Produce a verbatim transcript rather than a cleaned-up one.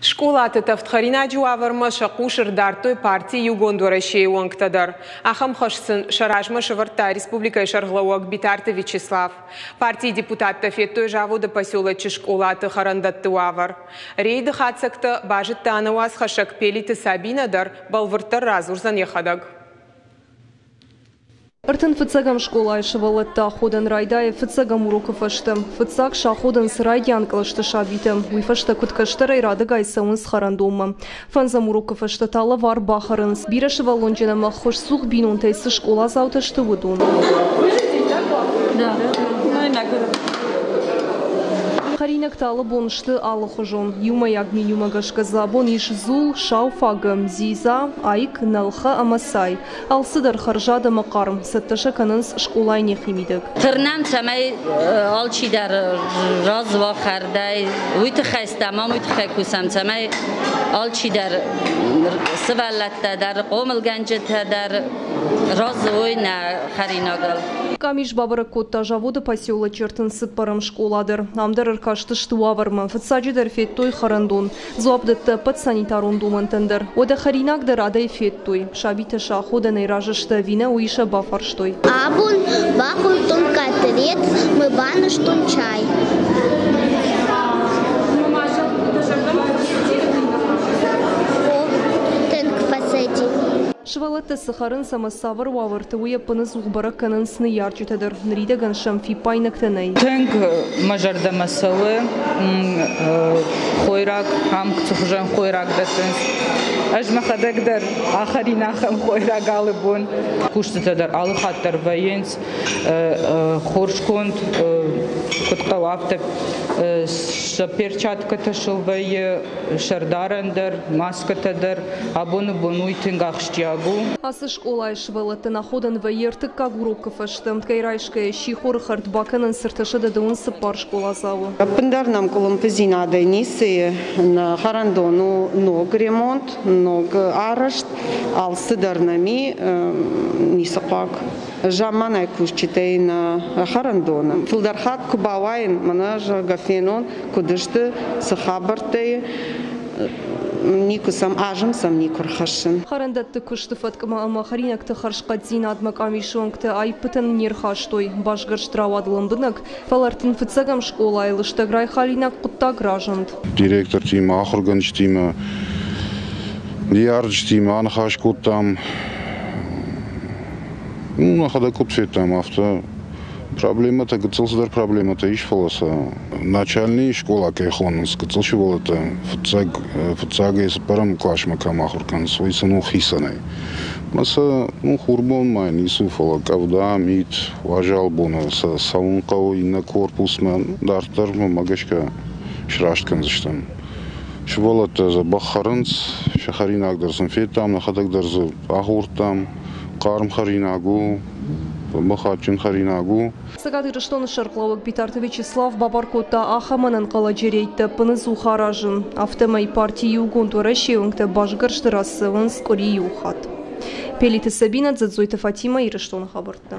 Скъолаты тӕвдхӕринаджы уавӕрмӕ сӕ хъус ӕрдардтой парти Иугонд Уӕрӕсе-йы уӕнгтӕ дӕр. Ахӕм хӕс сын сӕ размӕ сӕвӕрдта республикӕйы сӕргълӕууӕг Битарты Вячеслав. Партийы депутаттӕ федтой заводы поселочы скъолаты хӕрӕндӕтты уавӕр. Рейды хатдзӕгтӕ базыдта нӕ уацхӕссӕг Пелиты Сабинӕ дӕр, бӕлвырддӕр радзурдзӕн йӕхӕдӕг. Ӕртын фыццӕгӕм скъолайы сывӕллӕтты аходӕн райдайы фыццӕгӕм урокы фӕстӕ. Фыццаг саходынц райдиан кълӕсты сабитӕ, уый фӕстӕ куыд кӕстӕрӕй радыгай цӕуынц хӕрӕндонмӕ. Фӕндзӕм урокы фӕстӕ та лӕвар бахӕрынц, бирӕ сывӕллонджын ӕмӕ ӕххуысцух бинонтӕй цы скъоладзаутӕ сты, уыдон. Хӕринӕгтӕ алы бон сты алыхуызон. Иумӕйаг менюмӕ гӕсгӕ дзы абон ис дзул, сау фагӕ, дзидза, айк, нӕлхӕ ӕмӕ цай. Алцыдӕр хӕрзад ӕмӕ хъарм, цӕттӕ сӕ кӕнынц скъолайы нӕхимидӕг. Тырнӕм, цӕмӕй алчидӕр разы уа хӕрдӕй, уый тыххӕй стӕм ам, уый тыххӕй кусӕм, цӕмӕй алчидӕр сывӕллӕттӕ дӕр, хъомылгӕнджытӕ дӕр разы уой нӕ хӕринагыл. Къамис бабӕрӕг кодта заводы поселочы ӕртын цыппӕрӕм скъола дӕр. Ам дӕр ӕркастысты уавӕрмӕ. Фыццаджыдӕр федтой хӕрӕндон. Дзуапп дӕтты ӕппӕт санитарон домӕнтӕн дӕр. Уӕдӕ хӕринаг дӕр адӕй федтой. Сабитӕ сӕ аходӕнӕй разы сты ӕви нӕ, уый сӕ бафарстой. Абон бахуыдтон котлет, мы банызтон чай. Тынг фӕцыди. Сывӕллӕттӕ цы хӕрынц ӕмӕ цавӕр уавӕрты, уый ӕппынӕдзух бӕрӕг кӕнынц ныййарджытӕ дӕр. Ныридӕгӕн сӕм фиппаинӕгтӕ нӕй. Тынг мӕ зӕрдӕмӕ цӕуы хойраг, ам цы хуызӕн хойраг дӕттынц. Ӕз мӕхӕдӕг дӕр ахӕрин ахӕм хойраг алы бон. Кустытӕ дӕр алы хатт дӕр вӕййынц хорз конд, куыд хъӕуы, афтӕ. Сӕ перчаткӕтӕ сыл вӕййы, сӕрдарӕн дӕр, маскӕтӕ дӕр. Абоны бон уый тынг ахсджиаг у. Ацы скъолайы сывӕллӕттӕн аходӕн вӕййы ӕртыккаг урокы фӕстӕ. Ӕмткӕй райсгӕйӕ сихоры хӕрд бакӕнынц ӕртӕсӕдӕ дыууын цыппар скъоладзауы. Ӕппындӕр нӕм къуылымпыдзинадӕй ницы и. Нӕ хӕрӕндон у ног ремонт, ног арӕзт. Алцыдӕр нӕм и, ницы хъуаг. Замманай кусджытӕй нӕ хӕрӕндоны. Фылдӕр хатт куы бауайын, мӕнӕ, зӕгъгӕ, фенон, куыд сты, цы хабӕрттӕ и, никуы сӕм, азым сӕм никуы рхӕссын. Хӕрӕндӕтты куысты фӕткмӕ ӕмӕ хӕринӕгты хӕрзхъӕддзинадмӕ къамисы уӕнгтӕ аиппытӕн не рхастой. Басгӕрст рауад лӕмбынӕг, фӕлӕ ӕртын фыццӕгӕм скъолайы лыстӕг райхалинаг хъуыддаг разынд. Директортимӕ, ахуыргӕнджытимӕ, ныййарджытимӕ аныхас кодтам. Ну, нӕхӕдӕг куыд федтам, афтӕ проблемӕтӕ, гыццыл цыдӕр проблемӕтӕ ис, фӕлӕ сӕ начальный скъола кӕй хонынц, гыццыл сывӕллӕттӕ фыццаг, фыццагӕй цыппӕрӕм къласмӕ кӕм ахуыр кӕнынц, уый сын у хицӕнӕй. Ӕмӕ сӕ ну, хурбонмӕ ницы у, фӕлӕ къӕвда, мит, уазал боны сӕ цӕуын хъӕуы иннӕ корпусмӕ. Дарддӕр, мӕнмӕ гӕсгӕ, сраст кӕндзыстӕм. Сывӕллӕттӕ дзӕбӕх хӕрынц, сӕ хӕринаг дӕр сын федтам, нӕхӕдӕг дӕр дзы ахордтам. Хъарм хӕринаг у, дзӕбӕх адджын хӕринаг у. Цӕгат Ирыстоны сӕргълӕууӕг Битарты Вячеслав бабар кодта ахӕм ӕнӕнхъӕлӕджы рейдтӕ ӕппынӕдзух аразын. Афтӕмӕй парти Иугонд Уӕрӕсе-йы уӕнгтӕ басгӕрсты рацӕуынц къуыри иу хатт. Пелиты Сабинӕ, Дзӕдзойты Фатимӕ, Ирыстоны хабӕрттӕ.